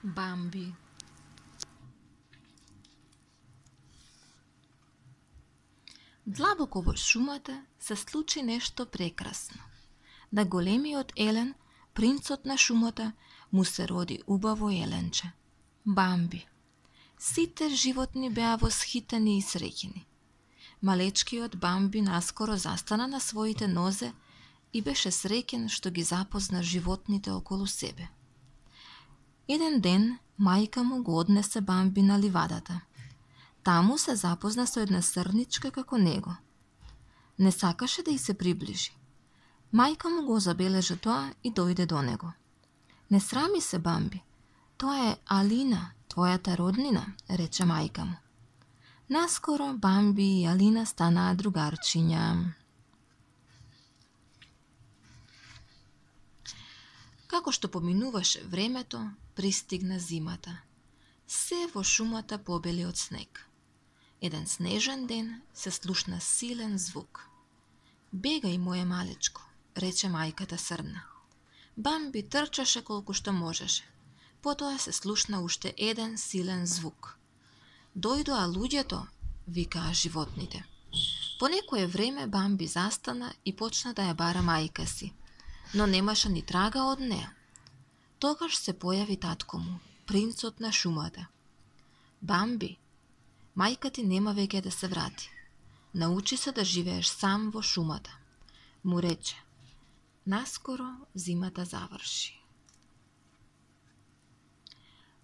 Бамби. Длабоко во шумата се случи нешто прекрасно. На големиот елен, принцот на шумата, му се роди убаво еленче, Бамби. Сите животни беа восхитени и среќени. Малечкиот Бамби наскоро застана на своите нозе и беше среќен што ги запозна животните околу себе. Еден ден, мајка му го однесе Бамби на ливадата. Таму се запозна со една срничка како него. Не сакаше да й се приближи. Мајка му го забележа тоа и дојде до него. Не срами се, Бамби. Тоа е Алина, твојата роднина, рече мајка му. Наскоро Бамби и Алина станаа другарчиња. Како што поминуваше времето, пристигна зимата. Се во шумата побели од снег. Еден снежен ден се слушна силен звук. Бегај, моје малечко, рече мајката срна. Бамби трчаше колку што можеше. Потоа се слушна уште еден силен звук. Дојдоа луѓето, викаа животните. По некое време Бамби застана и почна да ја бара мајка си, но немаше ни трага од неа. Тогаш се појави татко му, принцот на шумата. Бамби, мајка ти нема веќе да се врати. Научи се да живееш сам во шумата, му рече. Наскоро зимата заврши.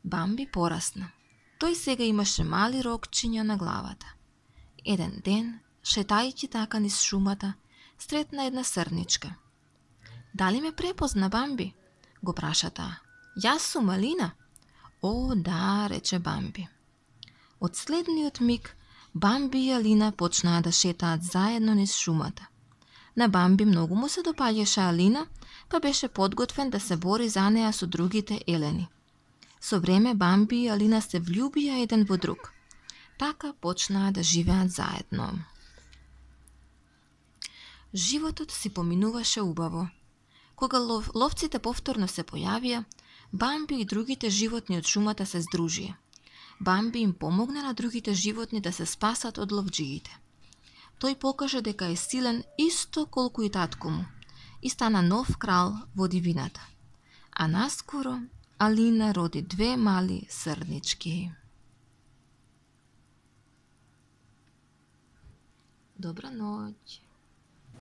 Бамби порасна. Тој сега имаше мали рокчиња на главата. Еден ден, шетајќи така низ шумата, сретна една срничка. Дали ме препозна, Бамби? Го праша таа. Јас сум Алина. О, да, рече Бамби. Од следниот миг, Бамби и Алина почнаа да шетаат заедно низ шумата. На Бамби многу му се допаѓаше Алина, па беше подготвен да се бори за неа со другите елени. Со време Бамби и Алина се влюбија еден во друг. Така почнаа да живеат заедно. Животот си поминуваше убаво. Кога ловците повторно се појавија, Бамби и другите животни од шумата се здружија. Бамби им помогна на другите животни да се спасат од ловџиите. Тој покажа дека е силен исто колку и татко му и стана нов крал во дивината. А наскоро Алина роди 2 мали срнички. Добра ноќ.